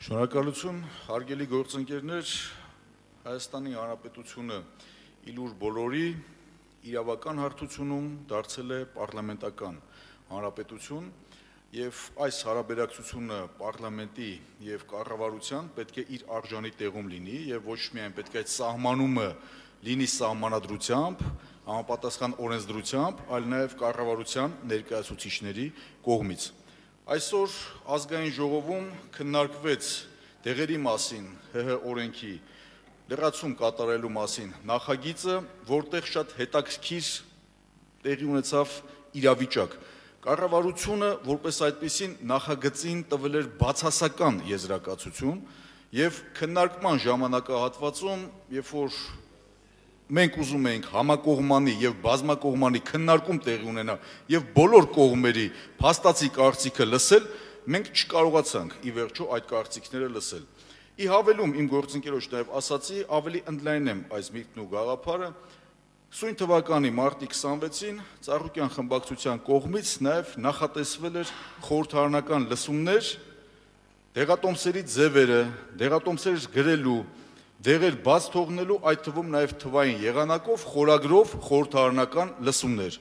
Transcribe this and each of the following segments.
Շնորհակալություն, հարգելի գործընկերներ, Հայաստանի Հանրապետությունը իլուր բոլորի իրավական հարթությունում դարձել է պարլամենտական հանրապետություն եւ այս հարաբերակցությունը պարլամենտի եւ կառավարության պետք է իր արժանի տեղում լինի եւ ոչ միայն պետք է այդ սահմանումը լինի սահմանադրությամբ, համապատասխան օրենսդրությամբ, այլ նաեւ կառավարության ներկայացուցիչների կողմից։ Այսօր ազգային ժողովում քննարկվեց դեղերի մասին ՀՀ օրենքի լրացում կատարելու մասին նախագիծը, որտեղ շատ հետաքրքիր տեղի ունեցավ իրավիճակ։ Կառավարությունը որպես այդպիսին նախագծին տվել էր բացասական եզրակացություն եւ քննարկման ժամանակահատվածում, երբ որ մենք ուզում էինք համակողմանի եւ բազմակողմանի քննարկում տեղի ունենա եւ բոլոր կողմերի փաստացի կարծիքը լսել, մենք չկարողացանք ի վերջո այդ կարծիքները լսել։ Ի հավելում իմ գործընկերոջ նաեւ ասացի, ավելի ընդլայնեմ այս միտքն ու գաղափարը, սույն թվականի մարտի 26-ին Ծառուկյան խմբակցության կողմից նաեւ նախատեսվել էր խորհրդարանական լսումներ, դեղատոմսերի ձևերը, դեղատոմսեր գրելու, դեղեր բաց թողնելու, այդ թվում նաև թվային եղանակով, խորագրով խորհրդարանական լսումներ։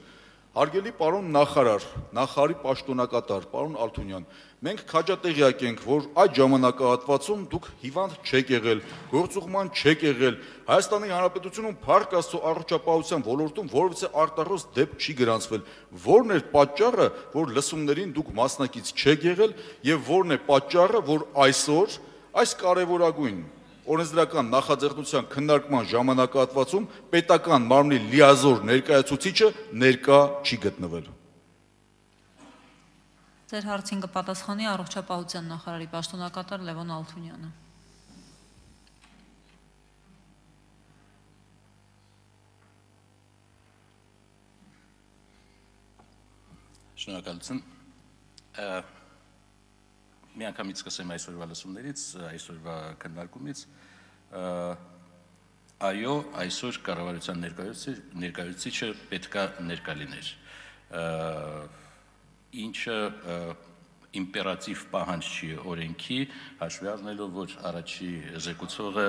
Հարգելի պարոն նախարար, նախարարի պաշտոնակատար, պարոն Ալթունյան, մենք քաջատեղյակ ենք, որ այդ ժամանակահատվածում դուք հիվանդ չեք եղել, գործուղման չեք եղել, Հայաստանի Հանրապետությունում փառք Աստծո առողջապահության ոլորտում որևէ արտառոց դեպք չի գրանցվել։ Որն էր պատճառը, որ լսումներին դուք մասնակից չեք եղել եւ որն է պատճառը, որ այսօր այս կարևորագույն օրենսդրական նախաձեռնության քննարկման ժամանակահատվածում պետական մարմնի լիազոր ներկայացուցիչը ներկա չի գտնվել։ Ձեր հարցին կպատասխանի առողջապահության նախարարի պաշտոնակատար Լևոն Ալթունյանը։ Շնորհակալություն։ Միանգամից սկսեմ այսօրվա լսումներից, այսօրվա քննարկումից, այո, այսօր կառավարության ներկայացուցիչը պետք է ներկա լիներ, ինչը իմպերատիվ պահանջ չի օրենքի, հաշվի առնելով, որ առաջի զեկուցողը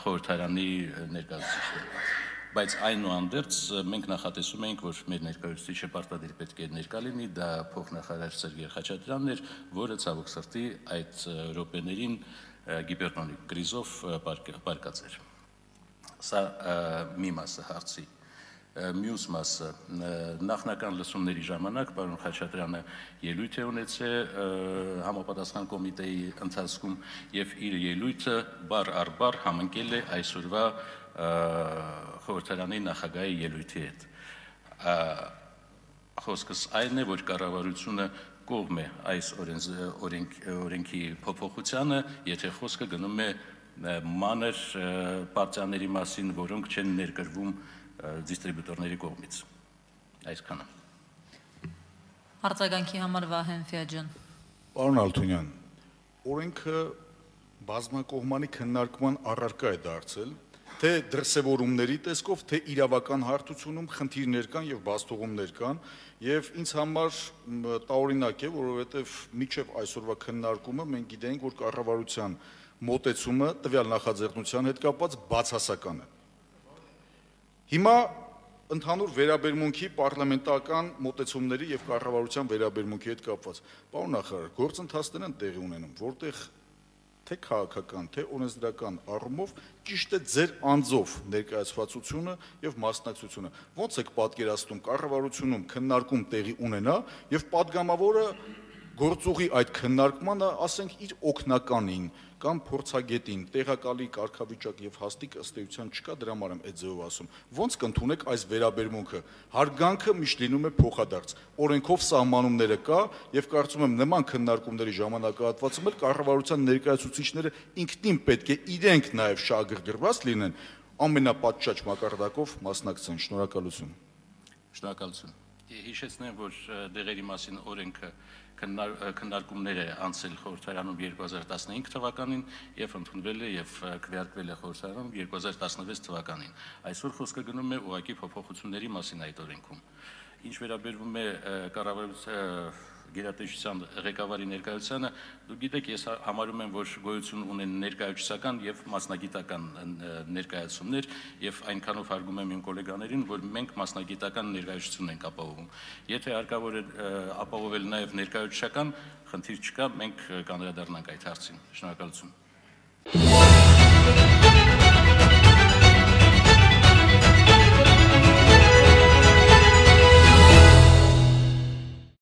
խորհրդարանի ներկայացուցիչն է։ Բայց այնուհանդերձ մենք նախատեսում ենք, որ մեր ներկայացուցիչը պարտադիր պետք է ներկա լինի, դա փոխնախարար Սերգեյ Խաչատրյանն էր, որը ցավոք սրտի այդ րոպեներին գիպերտոնիկ կրիզով պարկած էր։ Սա մի մասը հարցի։ Մյուս մասը նախնական լսումների ժամանակ պարոն Խաչատրյանը ելույթ է ունեցել համապատասխան կոմիտեի ընթացքում եւ իր ելույթը բառ առ բառ համընկել է այսօրվա խորհրդարանի նախագահի ելույթի հետ։ Խոսքս այն է, որ կառավարությունը կողմ է այս օրենքի փոփոխությանը, եթե խոսքը գնում է մանր պարտիաների մասին, որոնք չեն ներկրվում դիստրիբյուտորների կողմից։ Այսքանը։ Արձագանքի համար Վահեն Ֆիաջան։ Պարոն Ալթունյան, օրենքը բազմակողմանի քննարկման առարկա է դարձել, թե դրսևորումների տեսքով, թե իրավական հարթությունում խնդիրներ կան եւ բացթողումներ կան, եւ ինձ համար տարօրինակ է, որովհետեւ մինչեւ այսօրվա քննարկումը մենք գիտենք, որ կառավարության մոտեցումը տվյալ նախաձեռնության հետ կապված բացասական է։ Հիմա ընդհանուր վերաբերմունքի պարլամենտական մոտեցումների եւ կառավարության վերաբերմունքի հետ կապված։ Պարոն նախարար, գործընթացներ են տեղի ունենում, որտեղ թե քաղաքական, թե օրենսդրական առումով ճիշտ է ձեր անձով ներկայացվածությունը եւ մասնակցությունը։ Ոնց եք պատկերացնում կառավարությունում քննարկում տեղի ունենա եւ падգամավորը գործուղի այդ քննարկմանը, ասենք, իր օգնականին կամ փորձագետին տեղակալի կարգավիճակ եւ հաստիկ ըստ էության չկա, դրա համար եմ այդ ձեւով ասում։ Ոնց կընդունեք այս վերաբերմունքը։ Հարգանքը միշտ լինում է փոխադարձ։ Օրենքով սահմանումները կա եւ կարծում եմ նման քննարկումների ժամանակահատվածում էլ կառավարության ներկայացուցիչները ինքնին պետք է իրենք նաեւ շահագրգռված լինեն, ամենապատշաճ մակարդակով մասնակցեն։ Շնորհակալություն։ Շնորհակալություն։ Հիշեցնեմ, որ դեղերի մասին օրենքը քննարկումներ է անցել խորհրդարանում 2015 թվականին եւ ընդունվել է եւ քվեարկվել է խորհրդարանում 2016 թվականին։ Այսօր խոսքը գնում է ուղղակի փոփոխությունների մասին այդ օրենքում։ Ինչ վերաբերվում է կառավարության գերատեսչության ղեկավարի ներկայությանը, դուք գիտեք, ես համարում եմ, որ գոյություն ունեն ներկայացուցական եւ մասնագիտական ներկայացումներ, եւ այնքանով հարգում եմ իմ գոլեգաներին, որ մենք մասնագիտական ներկայացություն ենք ապահովում։ Եթե հարկավոր է ապահովել նաեւ ներկայացուցական, խնդիր չկա, մենք կանդրադառնանք այդ հարցին։ Շնորհակալություն։